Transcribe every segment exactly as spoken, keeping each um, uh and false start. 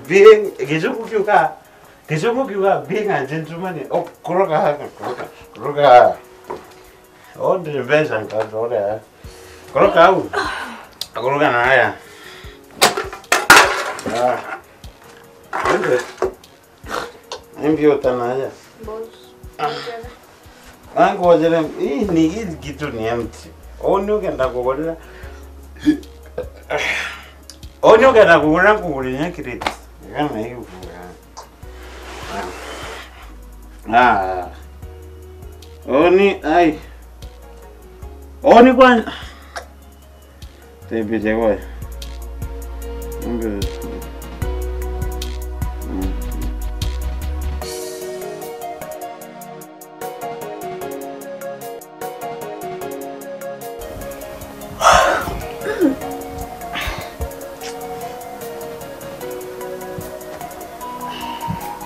Being, Gicungu kiuga, Gicungu kiuga, being a gentleman, oh, kuroga, kuroga, kuroga. Oh, ndiri mbeca, nkaroga. Kuroga au. Kuroga na haya. Ah. Ende. Imbi utanaja. Boss. Ah. Nangojere, hii ni, hii kitu ni empty. Oni ukenda kugurira. Oni ukenda kugurira, nkugurira nya kireti. Kana hiyo. Ah. Oni, ai. Oni kwa Tebite gwe. Umbe. Mm.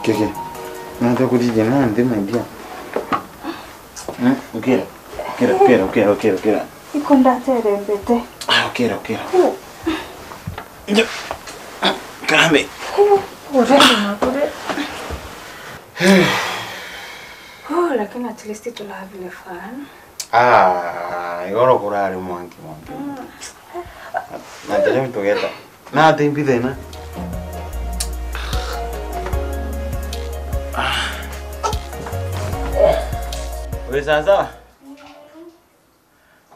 Keke. Nata kutije nandi, my dear. Mm, ukira. Ukira, ukira, ukira, ukira, ukira. Iko ndaterembete. Ah, ukira, ukira. Ku. Njo. Kambe. Ku. Urende na kure. Oh, lakini at least tulavile fun. Ah, igoro kurari mwanki, mwanki. Mm. Na tene tugeta. Na ati mbi thina. Wi sawa sawa?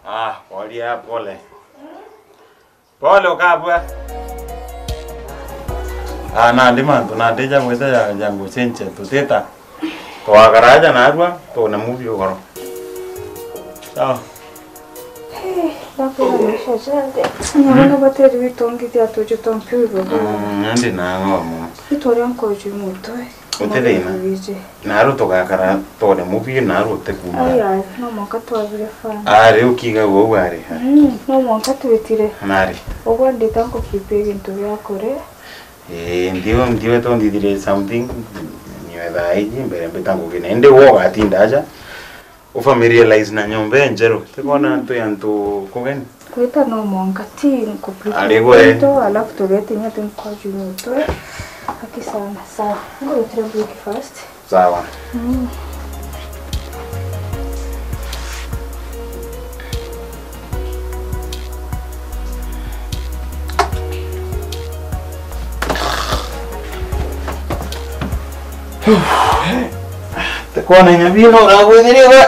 Ah, pole, pole. Pole ukabua. Ah, nandi mantu, nandi ja gwita ja, ja ngucenjia tutita. Twakaraja narua, tuone movie ugoro. Sawa. Hey, ndakwira maisha janthe. Nyamana bateri witongithia tuju twa mpira. Mm, nandi na ng'omo. Itwaria nkoju mutwe. Uti thina. Naru tugakara tuone movie naru utikuma. Ai, ai, no mwanka twabire fun. Ari ukiga uu ari. Mm, no mwanka twitire. Nari. Ugwe ndita nkukipia gintu gia kure. Eh, ndiwe, ndiwe tondithire something. Niwe thaa iji mbere mbita ngugina. Indi wo ugatinda aja. Ufamiliarize na nyomba injeru. Tikona antu ya antu kugeni. Kwita no mwanka ti nkuplete. Ari gwe. Alafu tugetinya tu nkoju mutwe. Aki sana. Sawa. Ngurutire breakfast. Sawa. Mm. Tikona inya bino uragwithirire.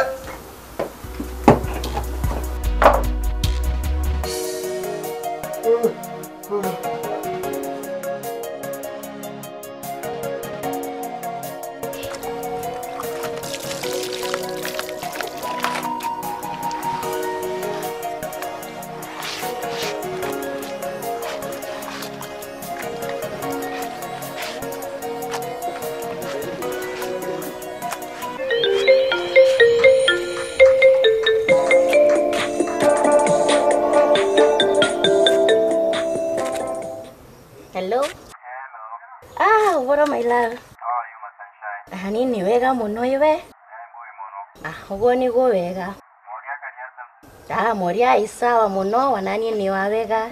Hello? Hello. Ah, uboro my love. How are you, my sunshine? Ah, ni ni wega muno iwe. Eh, mbui muno. Ah, uguo niguo wega. Moria kari ata? Ah, Moria ai sawa muno, wananie ni wa wega. Ai,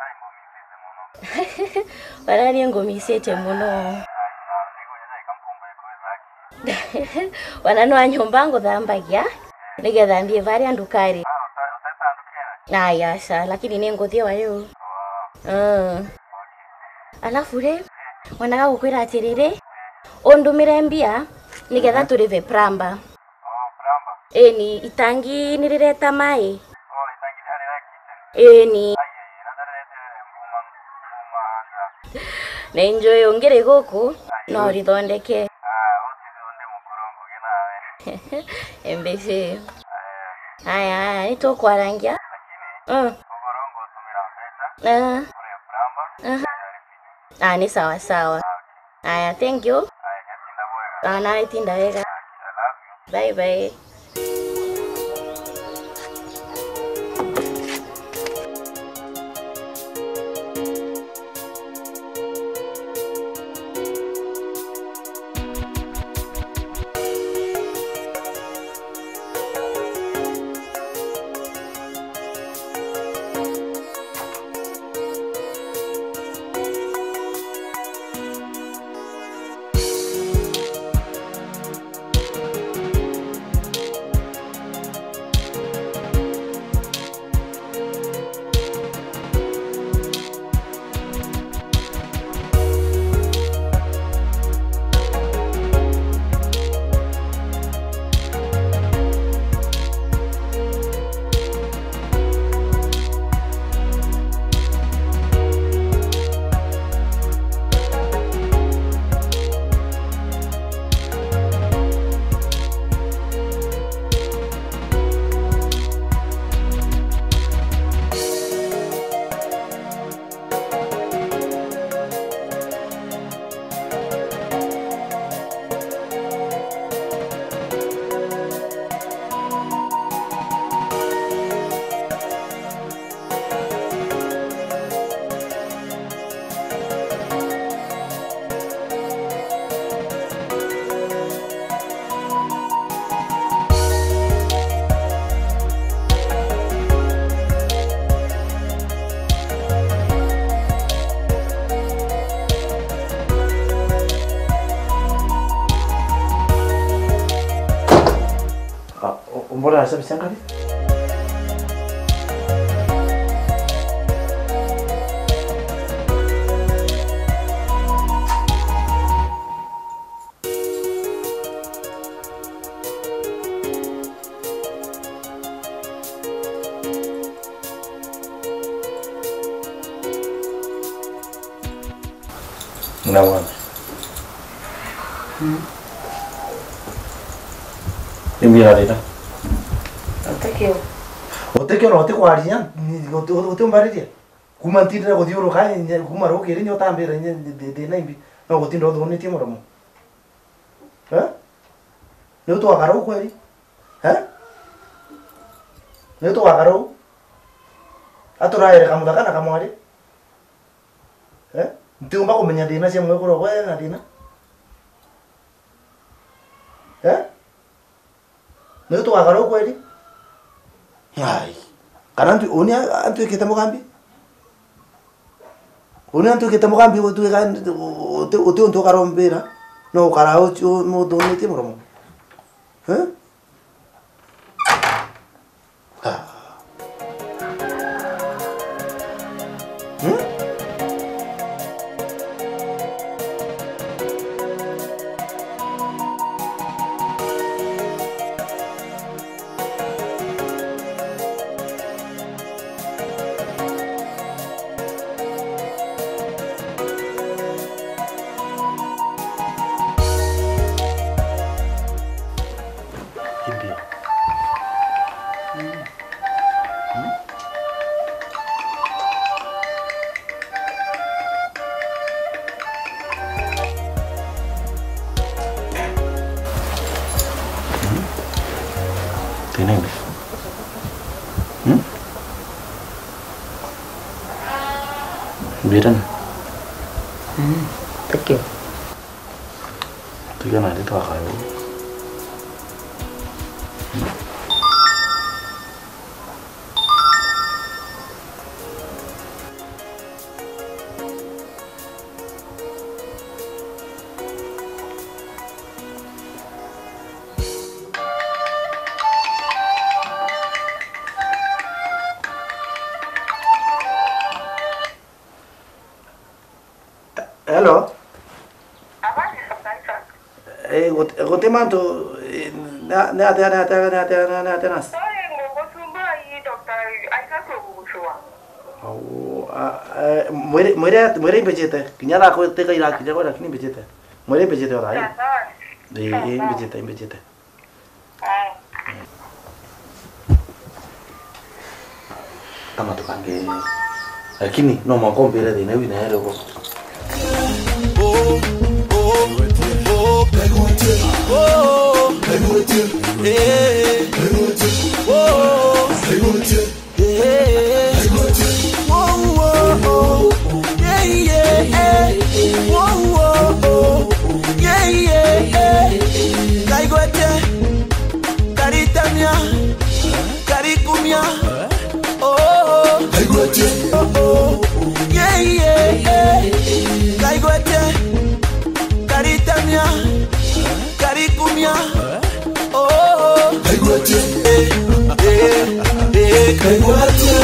mumithite muno. Wananie ngumicite muno. Ai, sawa, niguo nja ikamkumbuye kweza aki. Wana no a nyomba nguthambagia, nigetha nthie varia ndukari. Ah, uta-, uteta ndukari? Ai, aca, lakini ni nguthie wa riu. Oh. Mm. Okay. Alafu ri, mwana gagukwira atiriri, undumire mbia, nigetha, mhm, turive plumber. Oh, plumber. Ĩni, itangi nĩ rĩreta maĩ. Oh, itangi nĩ harĩ kitchen. Ĩni. Ai, ai, na ndarete mbuma, mbuma nja. Nĩ njũĩ ũngĩrĩ gũkũ, ai, no ũrĩthondeke. Ah, ũtithonde mũkũrũ ngũgĩ nawe. Embece. Ai, ai. Aya, aya, nĩ tũkwarangia. Lakini, mm, ũkũrũ ngũtũmĩra mbeca. Ah. Kũrĩ plumber. Aha. Ah, nĩ sawa sawa. Aya, thank you. Ah, nawe tinda wega. Bye bye. Sabi cia ngari. Muna mwana. Mm. Ni mbira rira. Utikio. Utikio na utikwaria, ni uti-, uti-, utiumbariria. Kuma ntindire kuthiuruka, nye, kuma rukiri, nye utambira, nye, thi-, thi-, thina imbi. No gutinda uthunitie muromo. Eh? Ni utwakara u kweri? Eh? Ni utwakara u? Aturaere kamuthaka na kamwari? Eh? Ntiumba kumenya thina cia mwekuru gwe na thina? Eh? Ni utwakara u kweri? Ai. Kana antu, uni a-, antuikite mugambi? Uni antuikite mugambi gutuika uti, uti untu ukarombira, no ukara uti u-, muthunitie muromo. Eh? Ah. Hmm? Kimbia. Thank you. Tukiona ati twakaya uu. Hello. Abandi Doctor Isaac. Eh, guti, guti mantu, eh, na, ni atia, ni atia, ni atia, ni atia, ni atia nasi? Sorry, ngugucumba ii Doctor Isaac ugugucua. Au, a, eh, mwire, mwire, mwire imbijite. Kinya thaa kwi, tika irakinya kwa, lakini imbijite. Mwire imbijite o thaa ii. Sawa, sawa. Ii, sawa, ii, sawa. Imbijite, imbijite. Kama tukange, lakini no mwanka umbire thina iu inaere ugo. Ngaigwete, karitamia, karikumia, oh, oh. Ngaigwete, oh, oh, yeah, yeah, yeah. Ngaigwete, karitamia, karikumia, oh, oh. Ngaigwete, eh, eh, eh, ngaigwete.